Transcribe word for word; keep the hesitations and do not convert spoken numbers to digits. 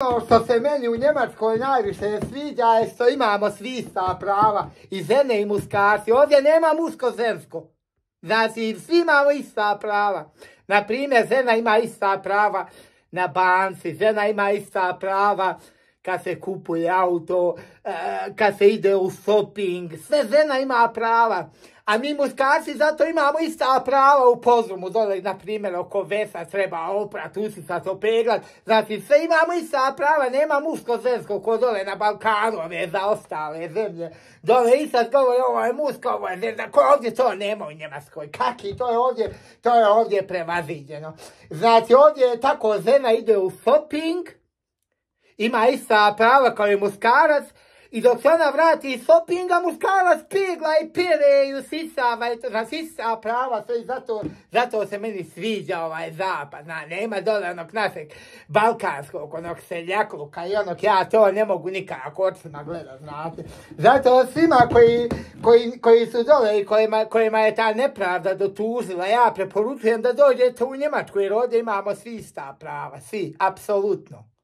Ono što se meni u Njemačkoj najviše sviđa je što imamo svi ista prava, i žene i muškarci. Ovdje nema muško-žensko. Znači, svi imamo ista prava. Naprimjer, žena ima ista prava na banci, žena ima ista prava kad se kupuje auto, kad se ide u shopping, sve žena ima prava. A mi muškarci zato imamo ista prava u Požumu, dole, na primjer, oko vesa treba oprat, usisat, opeglat. Znači, sve imamo ista prava, nema muško-žensko ko dole na Balkanu, ove za ostale zemlje. Dole i sad govori, ovo je muško, ovo je žena, ko ovdje to nema u Njemačkoj. Kaki, to je ovdje, to je ovdje prevaziđeno. Znači, ovdje je tako, žena ide u shopping, ima ista prava kao i muškarac, i dok se ona vrati iz shoppinga, muškarac pegla i pere i usisava, i to, znači ista prava, sve, i zato, zato se meni sviđa ovaj zapad, na, nema dole onog našeg balkanskog, onog seljakluka i onog, ja to ne mogu nikako očima gledat, znate. Zato svima koji, koji, koji su dole i kojima, kojima je ta nepravda dotužila, ja preporučujem da dođete u Njemačku, jer ovdje imamo svi ista prava, svi, apsolutno.